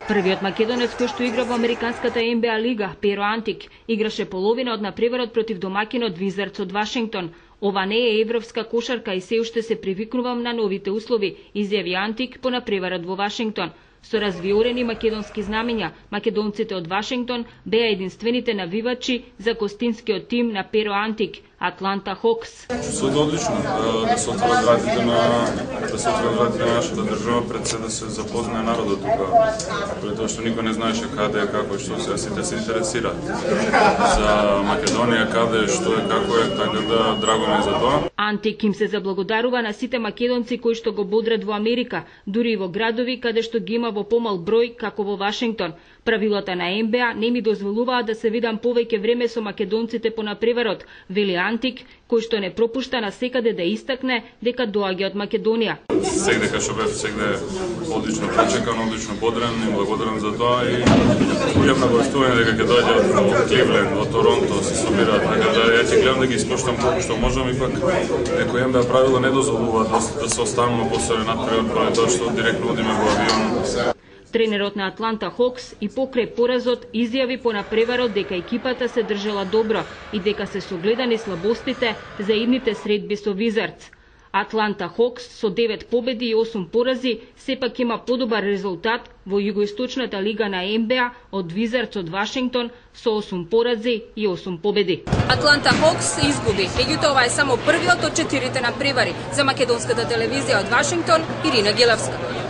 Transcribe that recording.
Првиот македонец кој што игра во американската NBA лига, Pero Antic, играше половина од надпреварот против домакинот Wizards од Вашингтон. Ова не е европска кошарка и се уште се привикнувам на новите услови, изјави Антик по надпреварот во Вашингтон. Со развиорени македонски знамења, македонците од Вашингтон беа единствените навивачи за гостинскиот тим на Pero Antic, Атланта Хокс. Се одлично да се отворат вратите на нашата држава, пред се да се запознае народот тука, пред тоа што никој не знаеше каде е, како што се, сите се интересираат за Македонија, каде, што е, како е, така да драго ми за тоа. Антик им се заблагодарува на сите македонци кои што го бодрат во Америка, дури и во градови каде што ги има во помал број, како во Вашингтон. Правилата на НБА не ми дозволуваат да се видам повеќе време со македонците по надпреварот, вели Антик, кој што не пропушта на секаде да истакне дека доаѓа од Македонија. Сегде што бев, сегде одлично пречекан, одлично бодрен и благодарен за тоа и уѓам на гостување дека ќе доаѓа од Кливленд, од Торонто, се собираат, така да ја ќе гледам да ги испоштам колку што можам, ипак некој НБА правила не дозволуваат да се останува после надпревар, поради тоа што директно одиме во авион. Тренерот на Атланта Хокс и покрај поразот изјави по надпреварот дека екипата се држала добро и дека се согледани слабостите за идните средби со Wizards. Атланта Хокс со 9 победи и 8 порази сепак има подобар резултат во југоисточната лига на НБА од Wizards од Вашингтон со 8 порази и 8 победи. Атланта Хокс изгуби, меѓутоа ова е само првиот од 4 надпревари. За македонската телевизија од Вашингтон, Ирина Гелевска.